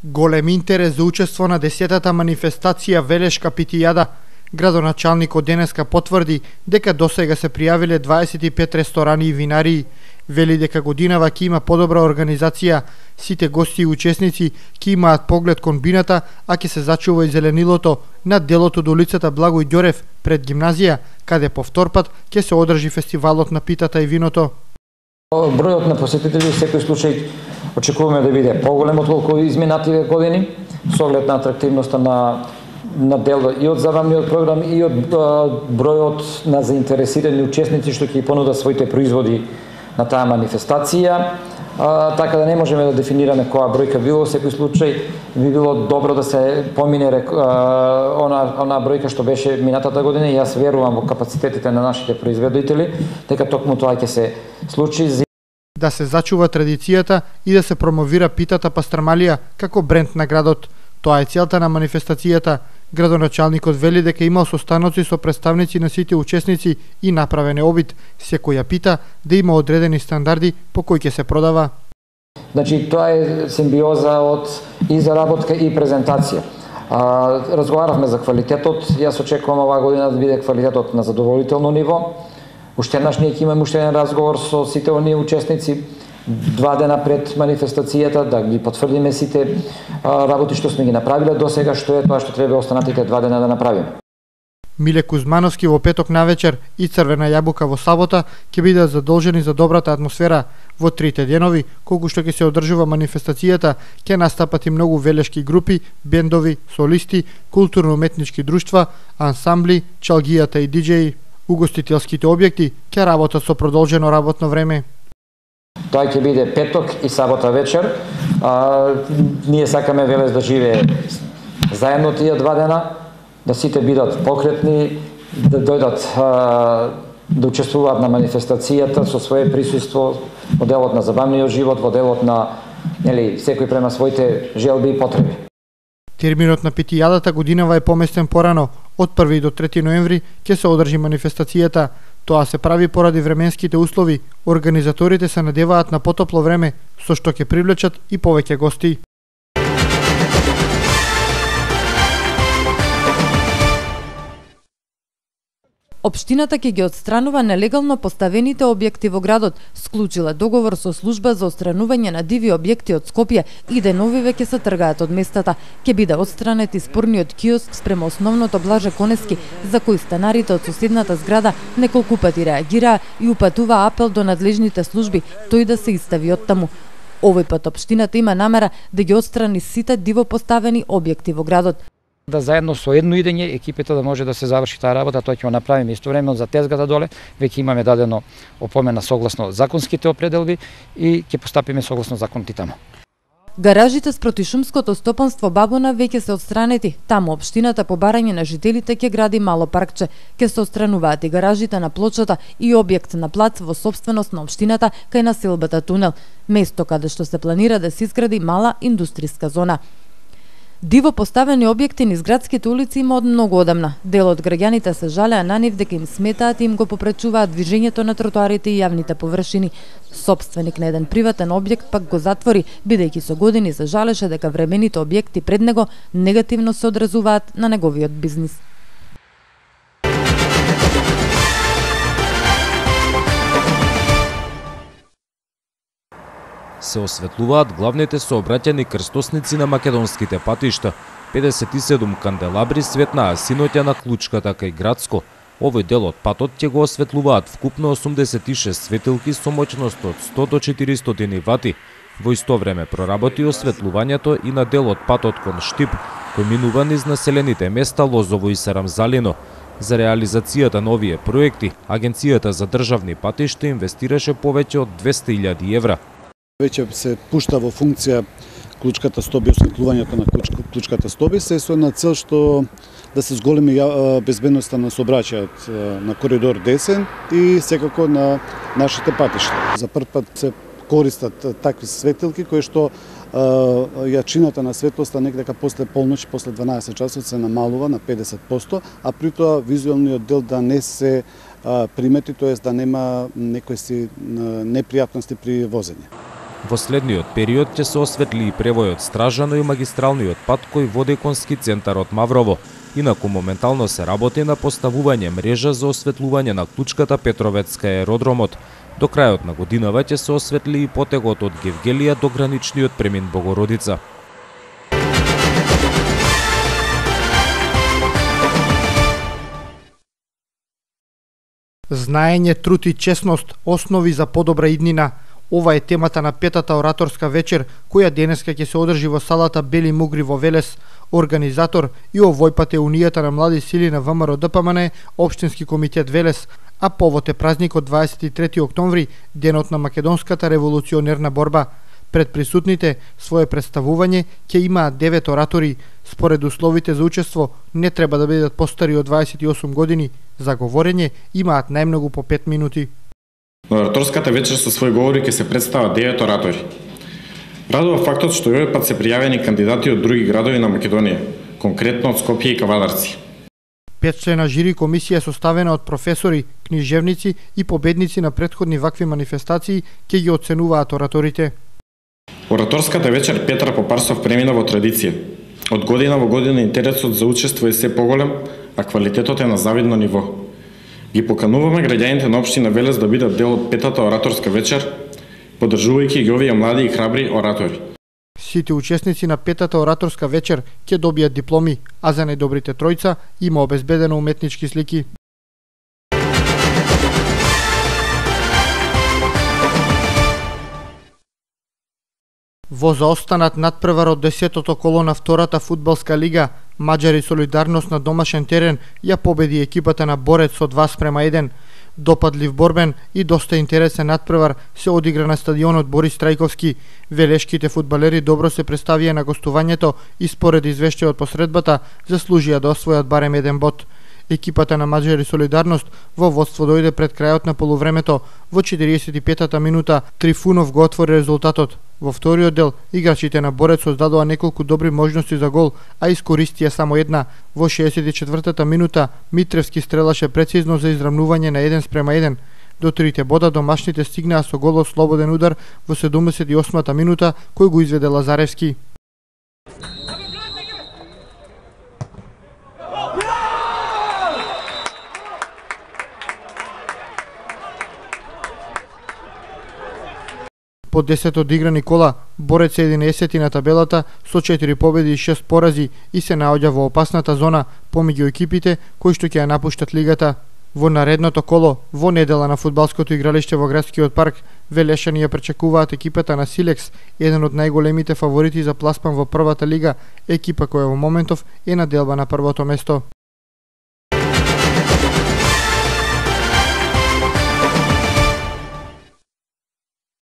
Голем интерес за учество на 10-та манифестација Велешка питијада. Градоначалникот денеска потврди дека досега се пријавиле 25 ресторани и винарии. Вели дека годинава ќе има подобра организација, сите гости и учесници ќе имаат поглед кон бината, а ќе се зачува и зеленилото над делото до улицата Благој Ѓорев пред гимназија, каде по втор пат ќе се одржи фестивалот на питата и виното. Бројот на посетители во секој случај очекуваме да биде поголем отколку изминативе години, со оглед на атрактивноста на дел и од забавниот програм и од бројот на заинтересирани учесници што ќе понудат своите производи на таа манифестација. Така да не можеме да дефинираме која бројка било, во секој случај би било добро да се помине она бројка што беше минатата година и јас верувам во капацитетите на нашите производители дека токму тоа ќе се случи. Да се зачува традицијата и да се промовира питата пастрамалија како бренд на градот. Тоа е целта на манифестацијата. Градоначалникот вели дека имал состаноци со представници на сите учесници и направен е обид секоја пита да има одредени стандарди по кои ќе се продава. Значи тоа е симбиоза од и заработка и презентација. Разговаравме за квалитетот. Јас очекувам оваа година да биде квалитетот на задоволително ниво. Уште еднаш ние ќе имаме уште еден разговор со сите оние учесници 2 дена пред манифестацијата, да ги потврдиме сите работи што сме ги направиле до сега, што е тоа што треба останатите 2 дена да направиме. Миле Кузмановски во петок навечер и Црвена јабука во сабота ќе бидат задолжени за добрата атмосфера. Во 3 денови, колку што ќе се одржува манифестацијата, ќе настапат и многу велешки групи, бендови, солисти, културно-уметнички друштва, ансамбли, чалгијата и диџеи. Угостителските објекти ќе работат со продолжено работно време. Тоа ќе биде петок и сабота вечер. Ние сакаме Велес да живее заедно тие 2 дена, да сите бидат покретни, да дојдат да учествуваат на манифестацијата со свое присуство во делот на забавниот живот, во делот на секој према своите желби и потреби. Терминот на питијадата годинава е поместен порано. Од 1 до 3 ноември ќе се одржи манифестацијата. Тоа се прави поради временските услови. Организаторите се надеваат на потопло време, со што ќе привлечат и повеќе гости. Општината ќе ги отстранува нелегално поставените објекти во градот, склучила договор со служба за отстранување на диви објекти од Скопје и деновиве ќе се тргаат од местата. Ќе биде отстранет и спорниот киоск спрема основното Блаже Коневски, за кој станарите од соседната зграда неколку пати реагираа и упатува апел до надлежните служби тој да се изстави од таму. Овој пат општината има намера да ги отстрани сите диво поставени објекти во градот. Да заедно со едно идење екипите да може да се заврши таа работа, тоа ќе го направиме истовремено за тезгата доле, веќе имаме дадено опомена согласно законските определби и ќе постапиме согласно законите таму. Гаражите спроти шумското стопанство Бабуна веќе се отстранети. Таму општината по барање на жителите ќе гради мало паркче. Ќе се отстрануваат и гаражите на плочата и објект на плац во сопственост на општината кај населбата Тунел, место каде што се планира да се изгради мала индустријска зона. Диво поставени објекти низ градските улици има од многу одамна. Дел од граѓаните се жалеа на нив дека им сметаат и им го попречуваат движењето на тротоарите и јавните површини. Сопственик на еден приватен објект пак го затвори, бидејќи со години се жалеше дека времените објекти пред него негативно се одразуваат на неговиот бизнис. Се осветлуваат главните сообраќајни крстосници на македонските патишта. 57 канделабри светнаа синоќа на Клучката кај Градско. Овој дел од патот ќе го осветлуваат вкупно 86 светилки со моќност од 100 до 400 вати. Во исто време проработи осветлувањето и на дел од патот кон Штип, кој минува низ населените места Лозово и Сарамзалино. За реализацијата на овие проекти, Агенцијата за државни патишта инвестираше повеќе од 200.000 евра. Веќе се пушта во функција Клучката Стоби, осветлувањето на Клучката Стоби, се со една цел што да се зголеми безбедноста на сообраќајот на коридор 10 и секако на нашите патишта. За прв пат се користат такви светилки кои што јачината на светлоста некако после полноќ, после 12 часот се намалува на 50%, а при тоа визуелниот дел да не се примети, тоест да нема некои непријатности при возење. Во следниот период ќе се осветли и превојот Стражано и магистралниот пат кој води кон ски центарот Маврово. Инаку моментално се работи на поставување мрежа за осветлување на клучката Петровецка и аеродромот. До крајот на годинава ќе се осветли и потегот од Гевгелија до граничниот премин Богородица. Знаење, труд и честност, основи за подобра иднина. Ова е темата на петата ораторска вечер, која денеска ќе се одржи во салата Бели Мугри во Велес. Организатор и овој пат е Унијата на млади сили на ВМРО ДПМН, Општински комитет Велес, а повод е празникот 23 октомври, денот на македонската револуционерна борба. Пред присутните своје представување ќе имаат 9 оратори. Според условите за учество не треба да бидат постари од 28 години. За говорење имаат најмногу по 5 минути. На ораторската вечер со свој говори ќе се представат 9 оратори. Радува фактот што овој пат се пријавени кандидати од други градови на Македонија, конкретно од Скопје и Кавадарци. 5-члена жири комисија составена од професори, книжевници и победници на претходни вакви манифестации ќе ги оценуваат ораторите. Ораторската вечер Петра Попарсов премина во традиција. Од година во година интересот за учество е се поголем, а квалитетот е на завидно ниво. Ги покануваме граѓаните на општина Велес да бидат дел од петата ораторска вечер, поддржувајќи ги овие млади и храбри оратори. Сите учесници на петата ораторска вечер ќе добијат дипломи, а за најдобрите тројца има обезбедено уметнички слики. Во заостанат надпревар од 10-тото коло на втората фудбалска лига, Маđари Солидарност на домашен терен ја победи екипата на Борец со 2:1. Допадлив борбен и доста интересен надпревар се одигра на стадионот Борис Трајковски. Велешките фудбалери добро се представија на гостувањето и според извештајот по средбата заслужија да освојат барем еден бод. Екипата на Маđари Солидарност во водство дојде пред крајот на полувремето. Во 45-та минута Трифунов го отвори резултатот. Во вториот дел играчите на Борец создадоа неколку добри можности за гол, а искористија само една. Во 64-та минута Митревски стрелаше прецизно за изравнување на 1:1. До трите бода домашните стигнаа со гол од слободен удар во 78-та минута кој го изведе Лазаревски. По 10 одиграни кола, Борец е 11 на табелата со 4 победи и 6 порази и се наоѓа во опасната зона помеѓу екипите кои што ќе ја напуштат лигата. Во наредното коло, во недела на фудбалското игралиште во градскиот парк, велешани ја пречекуваат екипата на Силекс, еден од најголемите фаворити за пласман во првата лига, екипа која во моментов е на делба на првото место.